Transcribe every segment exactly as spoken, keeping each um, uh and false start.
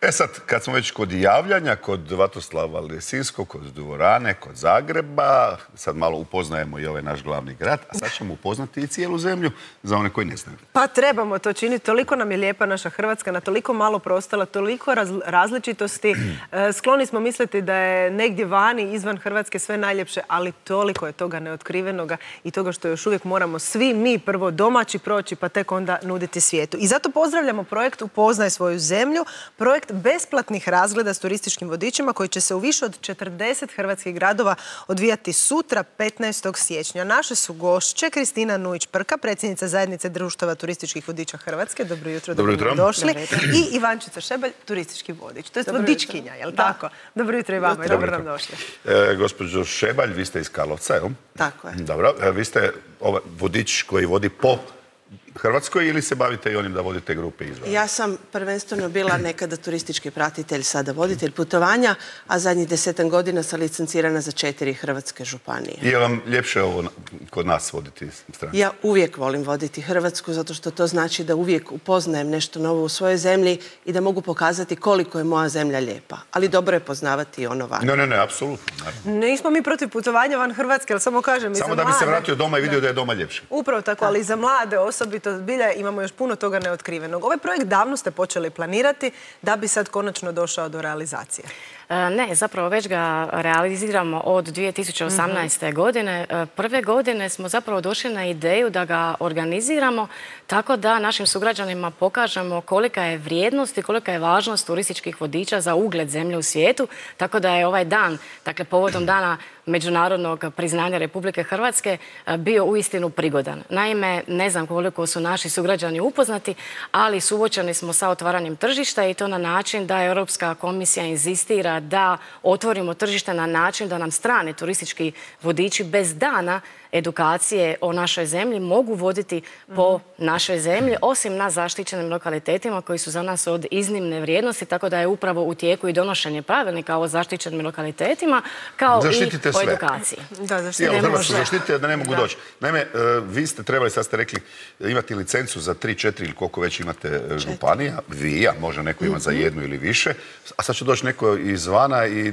E sad, kad smo već kod javljanja, kod Vatoslava Lisinskog, kod Dvorane, kod Zagreba, sad malo upoznajemo i ovaj naš glavni grad, a sad ćemo upoznati i cijelu zemlju za one koji ne znaju. Pa trebamo to činiti. Toliko nam je lijepa naša Hrvatska, na toliko malo prostora, toliko različitosti. Skloni smo misliti da je negdje vani, izvan Hrvatske sve najljepše, ali toliko je toga neotkrivenoga i toga što još uvijek moramo svi mi prvo domaći proći, pa tek onda nuditi svijetu. I zato pozdravljamo projekt Upoznaj svoju zemlju, projekt besplatnih razgleda s turističkim vodičima koji će se u više od četrdeset hrvatskih gradova odvijati sutra, petnaestog siječnja. Naše su gošće Kristina Nujić-Prka, predsjednica Zajednice društava turističkih vodiča Hrvatske. Dobro jutro, dobro jutro. Došli. I Ivančica Šebelj, turistički vodič. To je vodičkinja, je li tako? Dobro jutro i vama i dobro nam došli. Gospođo Šebelj, vi ste iz Karlovca, jel? Tako je. Dobro, vi ste vodič koji vodi po Hrvatskoj ili se bavite i onim da vodite grupe izvan? Ja sam prvenstveno bila nekada turistički pratitelj, sada voditelj putovanja, a zadnjih desetan godina sam licencirana za četiri hrvatske županije. Je vam ljepše ovo kod nas voditi stranicu? Ja uvijek volim voditi Hrvatsku, zato što to znači da uvijek upoznajem nešto novo u svojoj zemlji i da mogu pokazati koliko je moja zemlja lijepa. Ali dobro je poznavati i ono van. Ne, ne, ne, apsolutno. Nismo mi protiv putovanja van Hrvatske, ali samo kažem i za mlade. Samo da bi se vratio doma i vidio da je doma ljepše. Upravo tako, ali i za mlade osobi to zbilja imamo još puno toga neotkrivenog. Ovaj projekt davno ste počeli planirati da bi sad konačno došao do realizacije. Ne, zapravo već ga realiziramo od dvije tisuće osamnaeste. godine. Prve godine smo zapravo došli na ideju da ga organiziramo tako da našim sugrađanima pokažemo kolika je vrijednost i kolika je važnost turističkih vodiča za ugled zemlje u svijetu. Tako da je ovaj dan, dakle povodom dana međunarodnog priznanja Republike Hrvatske, bio uistinu prigodan. Naime, ne znam koliko su naši sugrađani upoznati, ali suočeni smo sa otvaranjem tržišta i to na način da Europska komisija inzistira da otvorimo tržište na način da nam strani turistički vodiči bez dana edukacije o našoj zemlji mogu voditi po našoj zemlji, osim na zaštićenim lokalitetima koji su za nas od iznimne vrijednosti, tako da je upravo u tijeku i donošenje pravilnika o zaštićenim lokalitetima, kao zaštitite i o sve. edukaciji. Da, zaštitite. Hrvatsku zaštitite da ne mogu doći. Naime, vi ste trebali, sad ste rekli, imati licencu za tri, četiri ili koliko već imate županija, vi, a može neko ima za jednu ili više, a sad će doći neko izvana i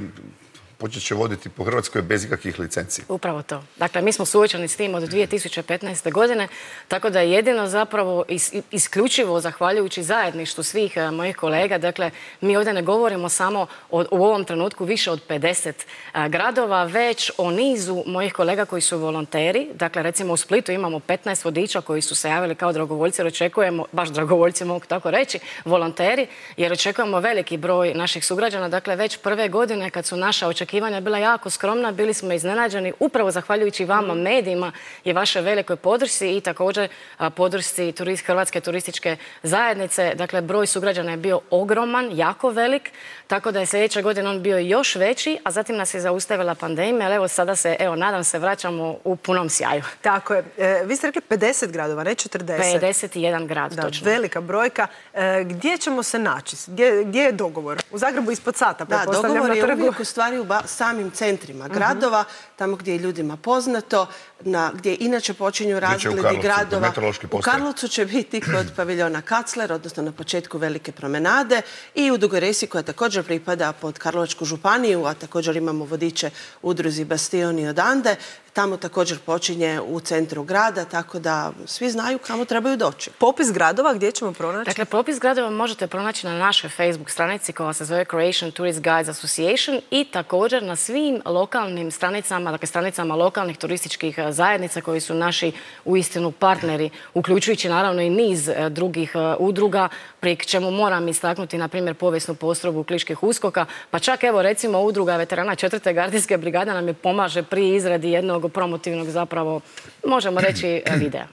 počet će voditi po Hrvatskoj bez ikakvih licencija. Upravo to. Dakle, mi smo suočeni s tim od dvije tisuće petnaeste. godine, tako da je jedino zapravo isključivo zahvaljujući zajedništvu svih mojih kolega. Dakle, mi ovdje ne govorimo samo u ovom trenutku više od pedeset gradova, već o nizu mojih kolega koji su volonteri. Dakle, recimo u Splitu imamo petnaest vodiča koji su se javili kao dragovoljci, jer očekujemo, baš dragovoljci mogu tako reći, volonteri, jer očekujemo veliki broj naših sugrađana. Dakle, već prve godine kad su naša očekivanja očekivanja bila jako skromna, bili smo iznenađeni upravo zahvaljujući vama, medijima i vašoj velikoj podršci i također podršci Hrvatske turističke zajednice. Dakle, broj sugrađana je bio ogroman, jako velik, tako da je sljedeće godine on bio još veći, a zatim nas je zaustavila pandemija, ali evo sada se, evo, nadam se, vraćamo u punom sjaju. Tako je. E, vi ste rekli pedeset gradova, ne četrdeset. pedeset jedan grad, da, točno. Velika brojka. E, gdje ćemo se naći? Gdje, gdje je dogovor? U Zagrebu ispod sata, da, pretpostavljam, na trgu. Da, dogovor je uvijek u stvari u samim centrima gradova, tamo gdje je ljudima poznato, na, gdje inače počinju razgledi gradova. U Karlovcu će biti kod paviljona Kacler, odnosno na početku Velike promenade, i u Dugoj Resi, koja također pripada pod Karlovačku županiju, a također imamo vodiče udruzi Bastion i Odande. Tamo također počinje u centru grada, tako da svi znaju kamo trebaju doći. Popis gradova gdje ćemo pronaći? Dakle, popis gradova možete pronaći na našoj Facebook stranici koja se zove Croatian Tourist Guides Association i također na svim lokalnim stranicama, dakle stranicama lokalnih turističkih zajednica koji su naši uistinu partneri, uključujući naravno i niz drugih udruga, pri čemu moram istaknuti, na primjer, povijesnu postrojbu Kliških uskoka, pa čak evo recimo udruga veterana četvrte gardijske brigade nam je pomaže pri izradi jednog promotivnog, zapravo, možemo reći, videa.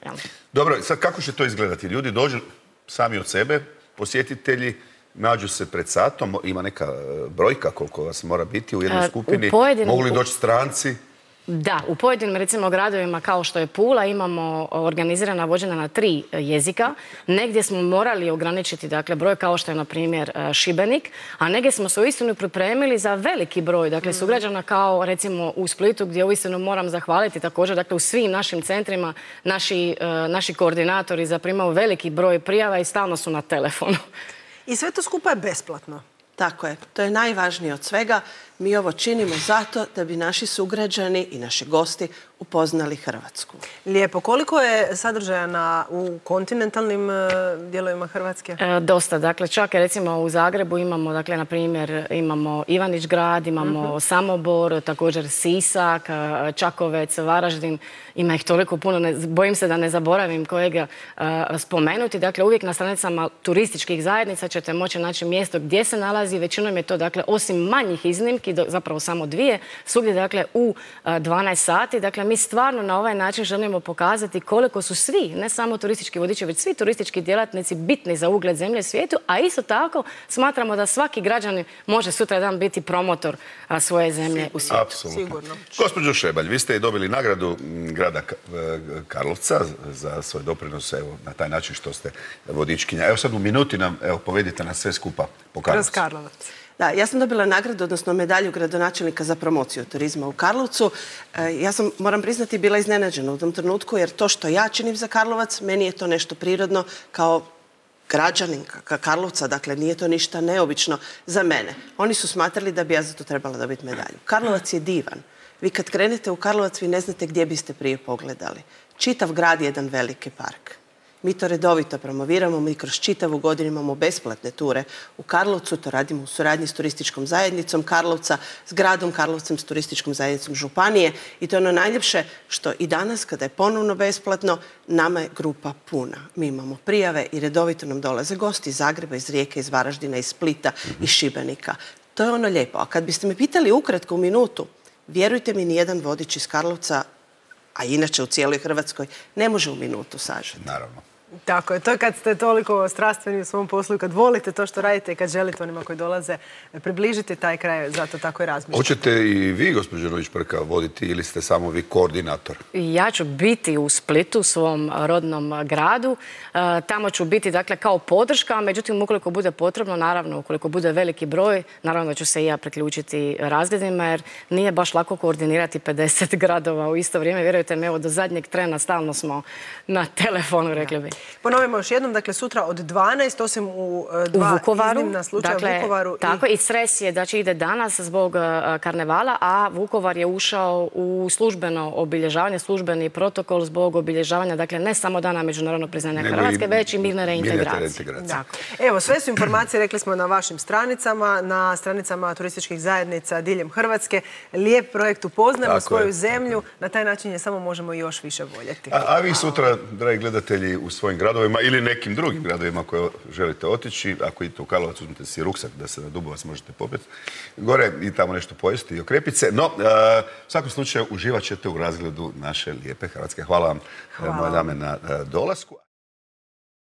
Dobro, sad kako će to izgledati? Ljudi dođu sami od sebe, posjetitelji, nađu se pred satom, ima neka brojka koliko vas mora biti u jednoj skupini, mogu li doći stranci? Da, u pojedinim, recimo, gradovima kao što je Pula imamo organizirana vođenja na tri jezika. Negdje smo morali ograničiti, dakle, broj kao što je, na primjer, Šibenik, a negdje smo se uistinu pripremili za veliki broj, dakle, sugrađana kao, recimo, u Splitu, gdje uistinu moram zahvaliti također, dakle, u svim našim centrima naši, naši koordinatori zaprimaju veliki broj prijava i stalno su na telefonu. I sve to skupa je besplatno. Tako je. To je najvažnije od svega. Mi ovo činimo zato da bi naši sugrađani i naši gosti upoznali Hrvatsku. Lijepo. Koliko je sadržaja u kontinentalnim dijelovima Hrvatske? E, dosta. Dakle, čak recimo u Zagrebu imamo, dakle, na primjer, imamo Ivanić grad, imamo uh-huh. Samobor, također Sisak, Čakovec, Varaždin. Ima ih toliko puno, ne, bojim se da ne zaboravim kojega uh, spomenuti. Dakle, uvijek na stranicama turističkih zajednica ćete moći naći mjesto gdje se nalazi. Većinom je to, dakle, osim manjih iznimki, do, zapravo samo dvije, svugdje, dakle, u uh, dvanaest sati. Dakle, mi stvarno na ovaj način želimo pokazati koliko su svi, ne samo turistički vodiči, već svi turistički djelatnici bitni za ugled zemlje i svijetu, a isto tako smatramo da svaki građanin može sutra dan biti promotor a, svoje zemlje Sigurno. u svijetu. Apsolutno. Sigurno. Gospođo Šebalj, vi ste i dobili nagradu grada Karlovca za svoj doprinos, evo, na taj način što ste vodičkinja. Evo sad u minuti nam, evo, povedite nas sve skupa po Karlovcu. Kroz Karlovac. Da, ja sam dobila nagradu, odnosno medalju gradonačelnika za promociju turizma u Karlovcu. Ja sam, moram priznati, bila iznenađena u tom trenutku, jer to što ja činim za Karlovac, meni je to nešto prirodno kao građanin Karlovca, dakle nije to ništa neobično za mene. Oni su smatrali da bi ja za to trebala dobiti medalju. Karlovac je divan. Vi kad krenete u Karlovac, vi ne znate gdje biste prije pogledali. Čitav grad je jedan veliki park. Mi to redovito promoviramo, mi kroz čitavu godinu imamo besplatne ture u Karlovcu, to radimo u suradnji s turističkom zajednicom Karlovca, s gradom Karlovcem, s turističkom zajednicom Županije i to je ono najljepše što i danas kada je ponovno besplatno, nama je grupa puna. Mi imamo prijave i redovito nam dolaze gosti iz Zagreba, iz Rijeke, iz Varaždina, iz Splita, iz Šibenika. To je ono lijepo. A kad biste me pitali ukratko u minutu, vjerujte mi, nijedan vodič iz Karlovca, a inače u cijeloj Hrvatskoj, ne može u minutu sažeti. Naravno. Tako je, to je kad ste toliko strastveni u svom poslu i kad volite to što radite i kad želite onima koji dolaze približiti taj kraj, zato tako i razmišljate. Hoćete i vi, gospođo Roić-Prka, voditi ili ste samo vi koordinator? Ja ću biti u Splitu, svom rodnom gradu. Tamo ću biti, dakle, kao podrška, međutim, ukoliko bude potrebno, naravno, ukoliko bude veliki broj, naravno da ću se i ja priključiti razgledima, jer nije baš lako koordinirati pedeset gradova u isto vrijeme. Vjerujte mi, evo, do zadnjeg trena stalno smo na telefonu, rekli bi. Ponovimo još jednom, dakle, sutra od dvanaest, osim u dva u Vukovaru, iznimna slučaja dakle, u Vukovaru. Tako, i stres je da će ide danas zbog uh, karnevala, a Vukovar je ušao u službeno obilježavanje, službeni protokol zbog obilježavanja, dakle, ne samo dana međunarodnog priznanja Nego Hrvatske, i, već i mirne reintegracije. Evo, sve su informacije, rekli smo, na vašim stranicama, na stranicama turističkih zajednica diljem Hrvatske. Lijep projekt, upoznajmo tako svoju je. zemlju, na taj način je samo možemo još više voljeti. A, a vi sutra, dragi gledatelji, u svojim gradovima ili nekim drugim gradovima koje želite otići, ako idete u Karlovac, uzmite si ruksak da se na Dubovac možete popeti gore i tamo nešto pojesti i okrepiti se. No, uh, u svakom slučaju uživat ćete u razgledu naše lijepe Hrvatske. Hvala vam, Hvala. moje dame, na uh, dolasku.